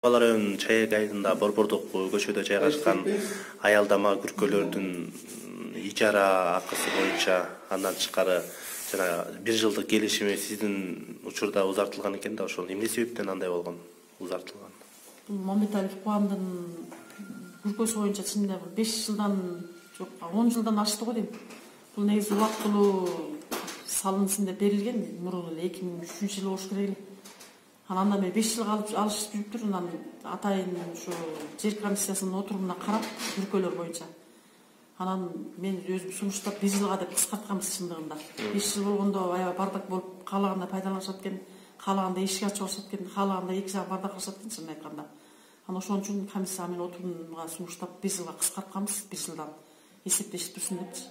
Бала районунун Чаек айылында Борбордук көчөдө жайгашкан аялдама күркөлөрдүн ижара акысы боюнча андан тышкары жана 1 жылдык келишими сиздин учурда узартылган экен да, ошол эмне себептен андай болгон, узартылган? Бул Мамбеталиев Кубандын күркөсү боюнча чынында 5 жылдан жок, 10 жылдан ашты го дейм. Бул негизи убактылуу салынсын деп берилген, мурун эле 2003 жылы болуш керек эле. Андан бери 5 жыл алышып жүрүптүр. Анан атайын ушу жер комиссиясынын отурумуна карап күркөлөр боюнча. Анан мен өзүм сунуштап 1 жылга деп кыскартканбыз чындыгында. 5 жыл болгондо аябай бардак болуп, каалагандай пайдаланышат экен, каалагандай эшик ачып алышат экен, каалагандай эки жагы бардакташат экен чынын айтканда. Анан ошон үчүн комиссия менен отурумга сунуштап 1 жылга кыскартканбыз, 1 жылдан эсептешип турсун депчи.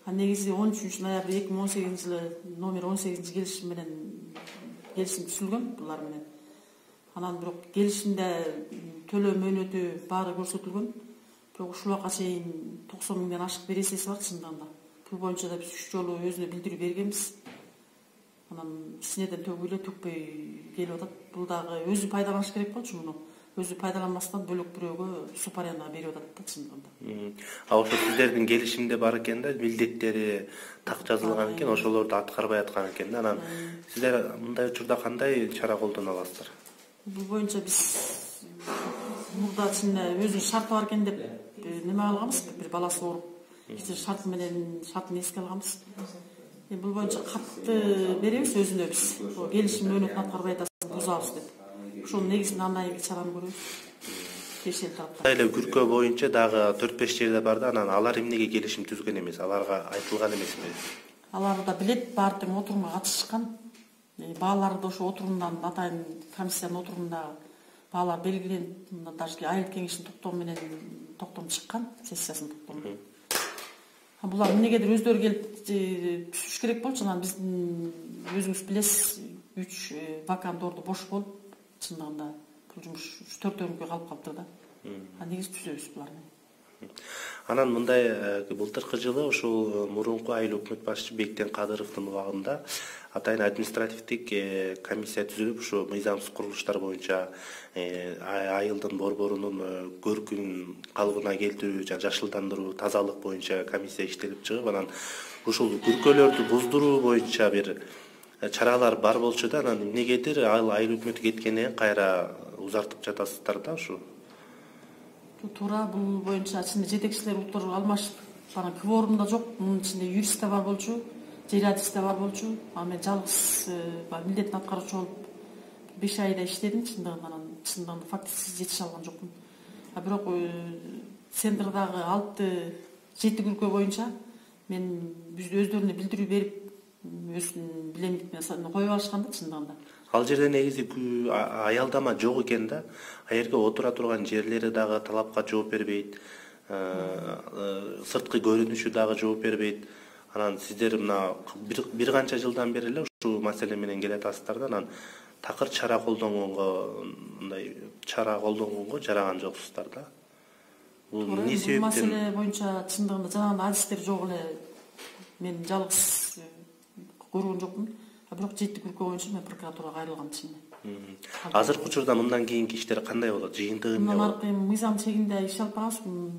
Негизи 13 ноябрь 2018 жылы номер 18 келишим менен келишим түзүлгөн булар менен. Анан бирок келишимде төлөө мөөнөтү баары көрсөтүлгөн. Бирок ушул убакка чейин 90 миңден ашык бир эсеси бар чындыгында. Бул боюнча да биз 3 жолу өзүнө билдирүү бергенбиз. Анан кичинеден төгүп эле төкпөй келип атат. Бул дагы өзү пайдаланыш керек болчу муну. Өзү пайдаланмастан бөлөк бирөөгө суб арендаға берип атат да чындыгында. Ошо сиздердин келишимде бар экен да, милдеттери так жазылган экен, ошолорду аткарбай аткан экен да. Анан сиздер мындай учурда кандай чара колдоно аласыздар? Бул боюнча биз мурда чынында өзүнүн шарты бар экен деп неме алганбыз, бир баласы ооруп, шартын эске алганбыз. Бул боюнча катты беребиз өзүнө биз. Келишим мөөнөтүн аткарбай атасыз, бузабыз деп. Ошол негизинде андан кийинки чараны көрөбүз. Тиешелүү тараптар. Эле күркө боюнча дагы 4-5 жерде бар да, анан алар эмнеге келишим түзгөн эмес? Аларга айтылган эмеспи? Алар да билет, баары тең отурумга катышышкан. Бааларды ошо отурумдан, атайын комиссиянын отурумунда баалар белгиленип, мындан даже айыл кеңешинин токтому менен токтом чыккан, сессиясынын токтому. Булар эмнегедир өздөрү келип түшүш керек болчу. Анан биздин өзүңүз билесиз, 3 вакант орду бош болуп, чындыгында бул жумуш 3-4 калып калыптыр да. Негизи түзөбүз буларны. Анан мындай былтыркы жылы ушул мурунку айыл өкмөт башчы Бектен Кадыровдун убагында атайын административдик комиссия түзүлүп, ушу мыйзамсыз курулуштар боюнча айылдын борборунун көркүн калыбына келтирүү, жашылдандыруу, тазалык боюнча комиссия иштелип чыгып, анан ушул күркөлөрдү буздуруу боюнча бир чаралар бар болчу да. Анан эмнегедир айыл өкмөтү кеткенден кайра узартып жатасыздар да ушу. Туура, бул боюнча чын жетекчилер уктуруп алмашып, бана кворумда жок, мунун ичинде юрист да бар болчу, жериадис да бар болчу. Мен жалгыз милдетин аткаруучу болуп 5 айда иштедим чындыгында, анан чындыгында фактически жетише алган жокмун. Бирок центрдагы 6-7 күркө боюнча мен өздөрүнө билдирүү берип, өзүнүн билемдик менен коюп алышкан да чындыгында. Ал жерде негизи аялдама жок экен да. А жерге отура турган жерлери дагы талапка жооп бербейт. Сырткы көрүнүшү дагы жооп бербейт. Анан сиздер мына бир канча жылдан бери эле ушул маселе менен келатасыздар да. Анан такыр чара колдонгонго жараган жоксуздар да. Бул эмне себептен? Бул маселе боюнча чындыгында жанагындай адистер жок эле. Мен жалгыз көргөн жокмун. Бирок 7 күркө боюнча мен прокуратурага кайрылгам чынында. Азыркы учурда мындан кийинки иштер кандай болот? Жыйынтыгы эмне болот? Мыйзам чегинде иш алып барабыз.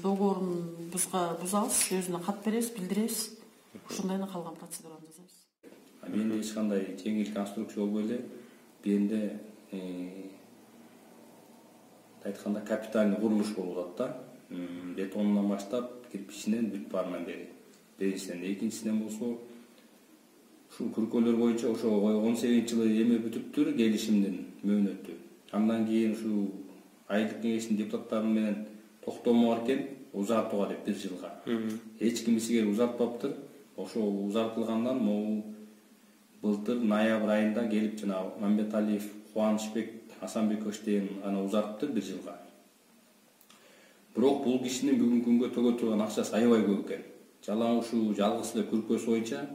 Договорун бузабыз, өзүнө кат беребиз, билдиребиз. Ошондой эле калган процедураны жасайбыз. Менде эч кандай жеңил конструкция болбой эле, бенде айтканда капитальный курулуш болуп атат да. Бетонунан баштап, кирпичинен бүт баарынан бери. Биринчиден, экинчисинен болсо ушул күркөлөр боюнча ошо 18-жылы эме бүтүптүр, келишимдин мөөнөтү. Андан кийин ушул айылдык кеңештин депутаттары менен токтому бар экен, узартууга деп 1 жылга. Эч ким сигер узартпаптыр. Ошо узартылгандан могу былтыр ноябрь айында келип жана Мамбеталиев Кубанычбек Асанбекович деген аны узартты 1 жылга. Бирок бул кишинин бүгүнкү күнгө төгө турган акчасы аябай көп экен. Жалаң ушул жалгыз эле күркөсү боюнча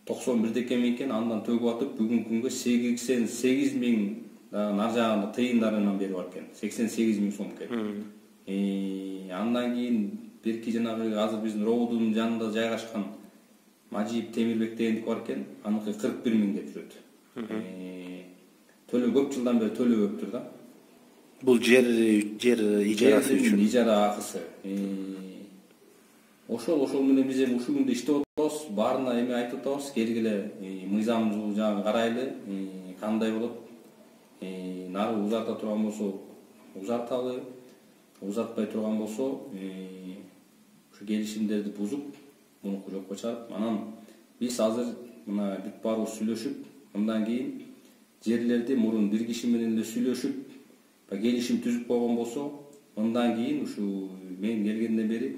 91 экен экен, андан төгүп атып бүгүнкү күнгө 88 миң нар жагында тыйындарынан бери бар экен. 88 миң сом экен. Андан кийин бирки жанагы азыр биздин роодун жанында жайгашкан Мажиев Темирбек дегендик бар экен, аныкы 41 миң деп жүрөт. Төлөө көп жылдан бери төлөбөптүр да. Бул жер ижарасы үчүн. Ижара акысы. Ошол менен биз эми ушул күндө иштеп атабыз, баарына эме айтып атабыз, келгиле мыйзамды жаңы карайлы, кандай болот. Нары узарта турган болсо узарталы, узартпай турган болсо ушу келишимдерди бузуп, мунуку жокко чыгарып, анан биз азыр мына бүт баарыбыз сүйлөшүп, мындан кийин жерлерди мурун бир киши менен эле сүйлөшүп, келишим түзүп койгон болсо, мындан кийин ушу мен келгенден бери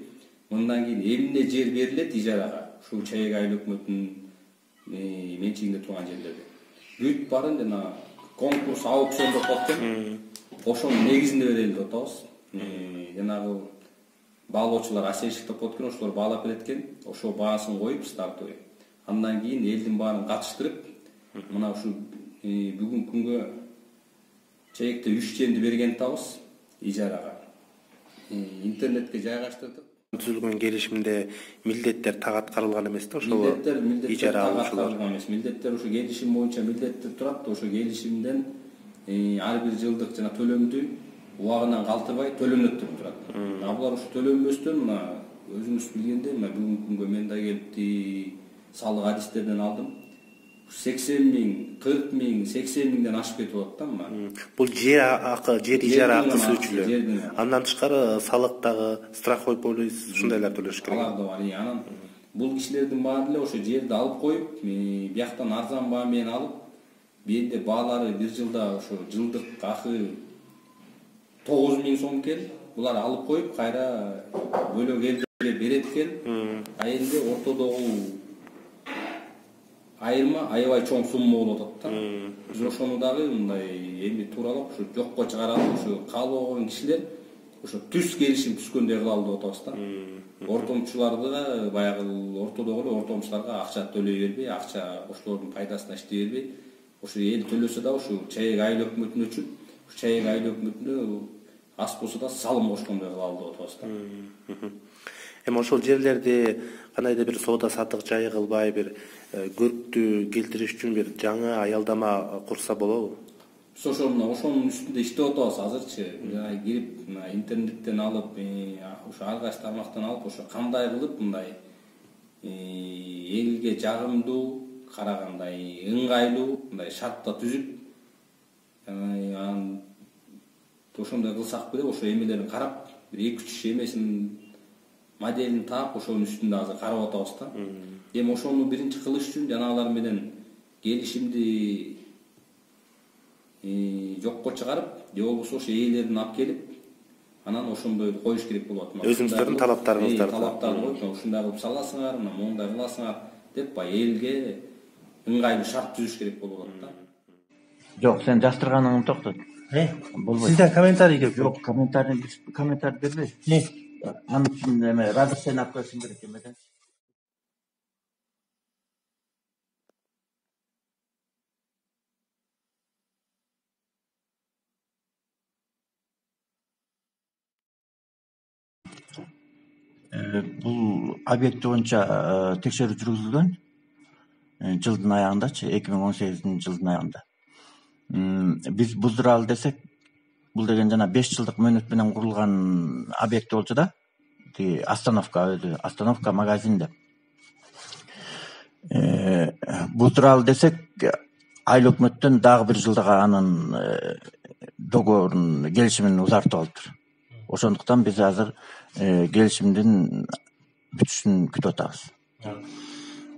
мындан кийин эмне жер берилет ижарага, ушу Чаек айыл өкмөтүнүн менчигинде турган жерлерди. Бүт баарын жана конкурс, аукцион деп атат. Ошонун негизинде берели деп атабыз. Жанагы баалоочулар асериштик деп атат экен, ошолор баалап берет экен. Ошол баасын коюп стартовый. Андан кийин элдин баарын катыштырып, мына ушу бүгүнкү күнгө Чаекте 3 жерди берген атабыз ижарага. Интернетке жайгаштырдык. Түзүлгөн келишимде милдеттер так аткарылган эмес да, ошол ижара алуучулар эмес. Милдеттер ушу келишим боюнча милдеттер турат, ошо келишимден ар бир жылдык жана төлөмдү убагынан калтырбай төлөнөт деп турат. Булар ушу төлөнбөстөн мына өзүңүз билгендей, мына бүгүнкү күнгө мен да келип салык адистерден алдым. 80 миң, 40 миң, 80 миңден ашып кетип атат да мына. Бул жер ижара акысы үчүн. Андан тышкары салык дагы, страховой полис ушундайлар төлөш керек. Алар да бар. Анан бул кишилердин баары эле ошо жерди алып коюп, бияктан арзан баа менен алып, бенде баалары бир жылда ошо жылдык акы 9 миң сом экен. Булар алып коюп, кайра бөлөк элдерге берет экен. Айында ортодогу айырма аябай чоң сумма болуп атат да. Биз ошону дагы мындай эми тууралап ушу жокко чыгаралып, ушу каалап алган кишилер ошо түз келишим түзгөндөй кылалы деп атабыз да. Ортомчуларды баягы ортодогу эле ортомчуларга акча төлөй бербей, акча ошолордун пайдасына иштей бербей, ошо эл төлөсө да ушу Чаек айыл өкмөтүнө үчүн, ушу Чаек айыл өкмөтүнө аз болсо да салым кошкондой кылалы деп атабыз да. Эми ошол жерлерди кандайдыр бир соода саттык жайы кылбай, бир көрктү келтириш үчүн бир жаңы аялдама курса болобу? Биз ошонун үстүндө иштеп атабыз азырчы. Кирип интернеттен алып, ошо ар кайсы тармактан алып, ошо кандай кылып мындай элге жагымдуу, карагандай ыңгайлуу мындай шартта түзүп, анан ошондой кылсак беле, ошо эмелерин карап, бир 2-3 эмесин моделин таап, ошонун үстүндө азыр карап атабыз да. Эми ошону биринчи кылыш үчүн жанагылар менен келишимди жокко чыгарып, же болбосо ошо ээлерин алып келип, анан ошондойду коюш керек болот. Өзүңүздөрдүн талаптарыңыздарды коюп, ушундай кылып саласыңар, моундай кыласыңар деп, элге ыңгайлуу шарт түзүш керек болуп атат да. Жок, сен жастырганыңды токтот. Болбойт. Сизден комментарий келип. Жок, комментарий бербейбиз. Анын үчүн эме разрешение алып коюшуң керек эмеден. Бул объект боюнча текшерүү жүргүзүлгөн жылдын аягындачы, 2018 жылдын аягында. Биз буздуралы десек, бул деген жана 5 жылдык мөөнөт менен курулган объект болчу да. Остановка өзү, остановка магазин деп. Буздуралы десек, айыл өкмөттөн дагы бир жылдага анын договорун, келишимин узартып алыптыр. Ошондуктан биз азыр келишимдин бүтүшүн күтүп атабыз.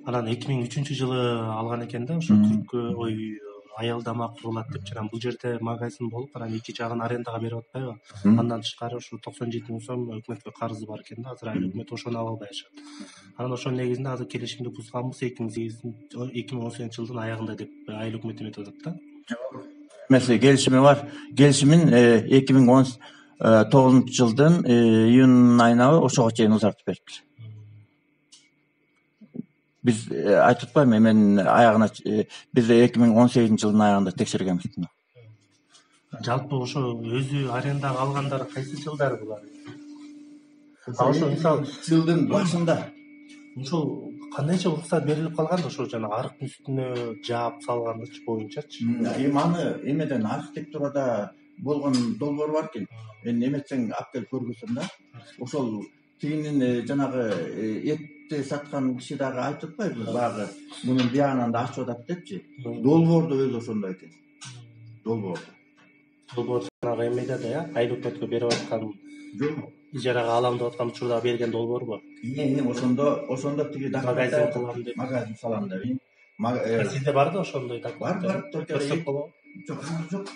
Анан 2003 жылы алган экен да, ошо Түрккө аялдама курулат деп, жана бул жерде магазин болуп, анан эки жагын арендага берип атпайбы? Андан тышкары ушу 97 миң сом өкмөткө карызы бар экен да, азыр айыл өкмөт ошону ала албай атышат. Анан ошонун негизинде азыр келишимди бузганбыз 2018 жылдын аягында деп айыл өкмөт эметип атат да. Эмес, келишими бар. Келишимин 2019 жылдын июнь айына ошого чейин узартып бериптир. Биз айтып атпайбы, мен аягына биз 2018 жылдын аягында текшергенбиз. Жалпы ошо өзү арендага алгандар кайсы жылдары булар? Ошо мисалы жылдын башында. Ошол кандайча уруксат берилип калган да, ошо жана арыктын үстүнө жаап салгандычы боюнчачы. Эми аны эмеден архитектурада болгон долбоор бар экен. Эметсең алып келип көргөзсөм да. Ошол тигинин жанагы этти саткан киши дагы айтып атпайбы, баягы мунун биягынан да ачып атат депчи. Долбоордо өзү ошондой экен. Долбоор жанагы эмеде да, Айлөкмөткө берип аткан Жок. ижарага алам деп аткан учурда берген долбоорбу? Ошондо тиги Магазин кылам деп. Магазин салам деп. Сизде бар да ошондой Бар, көрсөк болобу? Жок.